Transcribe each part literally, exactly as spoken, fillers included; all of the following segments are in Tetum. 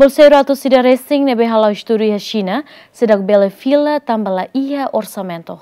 Bolseiru atu sira resin ne'ebé hala'o estudu iha Xina, seidauk bele fila tanba la iha orsamentu.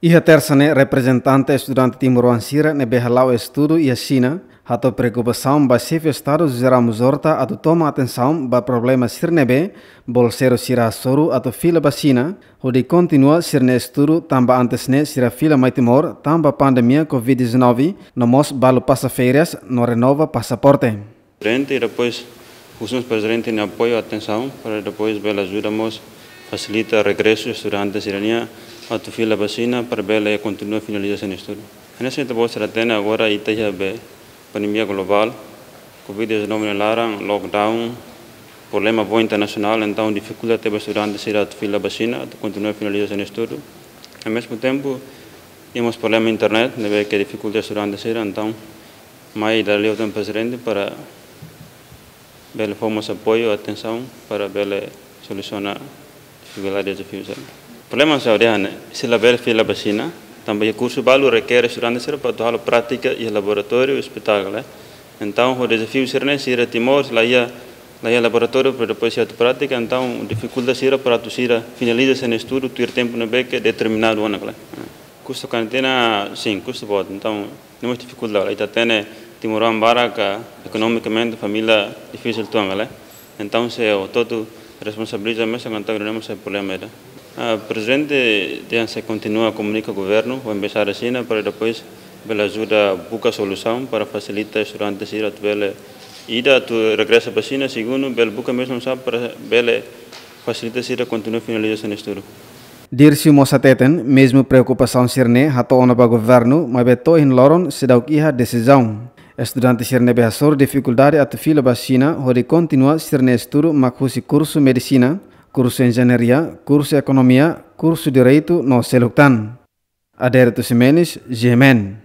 Iha Tersa ne'e, reprezentante estudante timoroan sira ne'ebé hala'o estudu iha Xina hato'o preokupasaun ba Xefe Estadu José Ramos Horta atu toma atensaun ba problema sira ne'ebé bolseiru sira hasoru atu fila ba Xina, hodi kontinua sira-nia estudu tanba antes ne'e sira fila mai Timor tanba pandemia covid dezanove, no mós balu pasa férias no renova pasaporte. Prezidente, i depois husu mós prezidente nia apoiu, atensaun, para depois bele ajuda mós fasilita regresu estudante sira-nian atu fila ba Xina para bele kontinua finaliza sira-nia estudu. Hanesan ita-boot sira hatene agora ita iha be pandemia globál, covid dezanove nia laran, lockdown, problema boot internasionál, entaun difikulta tebes estudante sira atu fila ba Xina atu kontinua finaliza sira-nia estudu. Ao mesmo tempo, iha mós problema internet, ne'ebé ke difikulta estudante sira, entaun mai dala ida liu tan prezidente para bele fó mós apoiu, atensaun para bele solusiona difikuldade, dezafiu sira. Problema sira dehan, sira labele fila ba Xina, tanba iha kursu balu rekere estudante sira para atu halo prátika iha laboratóriu, ospitál, eh. Entaun, ho dezafiu sira-ne'e, sira Timor, la iha, la iha laboratóriu para depois sira atu prátika, entaun difikulta sira para atu sira finaliza sira-nia estudu tuir tempu ne'ebé ke determinadu ona, kala. Kustu kantina, sin, kustu boot. Entaun, ne'e mós difikulta, ita hatene timoroan barak ekonomikamente família difisil uitoan, kala. Entaun, se hotu-hotu responsabiliza mesak, entaun ne'e mós sai problema ida. Ah, prezidente dehan sei kontinua komunika governu ho embaixada Xina para depois bele ajuda buka solusaun para fasilita estudante sira atu bele, ida, atu regresa ba Xina, segundu, bele buka meius oinsá para bele fasilita sira kontinua finaliza sira-nia estudu. Dircio mós hateten, mezmu preokupasaun sira-ne'e hato'o ona ba governu, maibé to'o ohin loron seidauk iha desizaun. Estudante sira ne'ebé hasoru difikuldade atu fila ba Xina hodi kontinua sira-nia estudu mak husi kursu medisina, kursu enjeñaria, kursu ekonomia, kursu direitu no seluk tan. Adérito Ximenes, G M N.